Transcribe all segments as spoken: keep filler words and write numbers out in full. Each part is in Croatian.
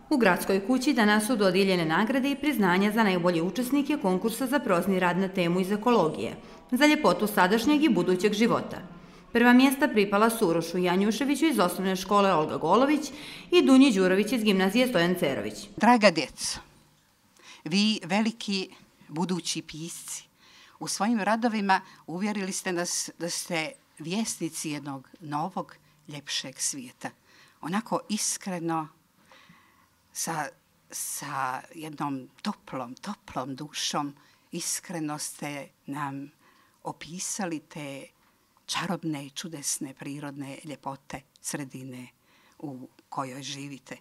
U Gradskoj kući danas su dodijeljene nagrade i priznanja za najbolje učesnike konkursa za prozni rad na temu iz ekologije, za ljepotu sadašnjeg i budućeg života. Prva mjesta pripala su Urošu Janjuševiću iz osnovne škole Olga Golović i Dunji Đurović iz gimnazije Stojan Cerović. Draga djeco, vi veliki budući pisci, u svojim radovima uvjerili ste nas da ste vjesnici jednog novog, ljepšeg svijeta. Onako iskreno, sa, sa jednom toplom, toplom dušom, iskreno ste nam opisali te čarobne i čudesne prirodne ljepote sredine u kojoj živite.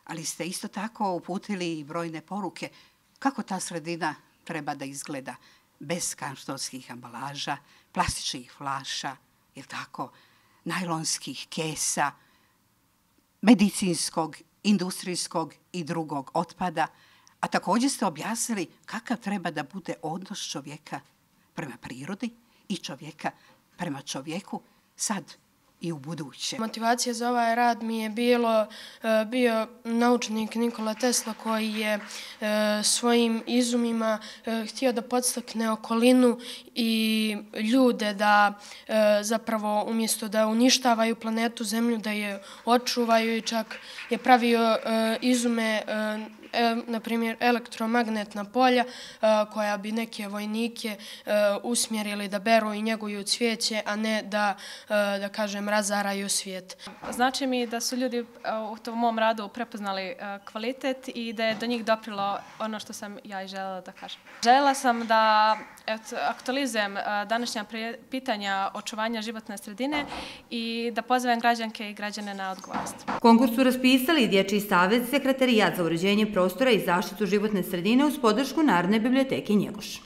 Ali ste isto tako uputili i brojne poruke kako ta sredina treba da izgleda bez kartonskih ambalaža, plastičnih flaša, jel tako, najlonskih kesa, medicinskog, industrijskog i drugog otpada, a također ste objasnili kakav treba da bude odnos čovjeka prema prirodi i čovjeka prema čovjeku sad i u buduće. Motivacija za ovaj rad mi je bilo, bio naučnik Nikola Tesla koji je svojim izumima htio da podstakne okolinu i ljude da zapravo umjesto da uništavaju planetu Zemlju, da je očuvaju i čak je pravio izume, na primjer elektromagnetna polja koja bi neke vojnike usmjerili da beru i njeguju cvijeće, a ne da, da kažem, razaraju svijet. Znači mi da su ljudi u tom mom radu prepoznali kvalitet i da je do njih doprilo ono što sam ja i željela da kažem. Željela sam da aktualizujem današnja pitanja očuvanja životne sredine i da pozovem građanke i građane na odgovornost. Konkurs su raspisali Dječji savez, Sekretarijat za uređenje prostora i zaštitu životne sredine uz podršku Narodne biblioteke Njegoš.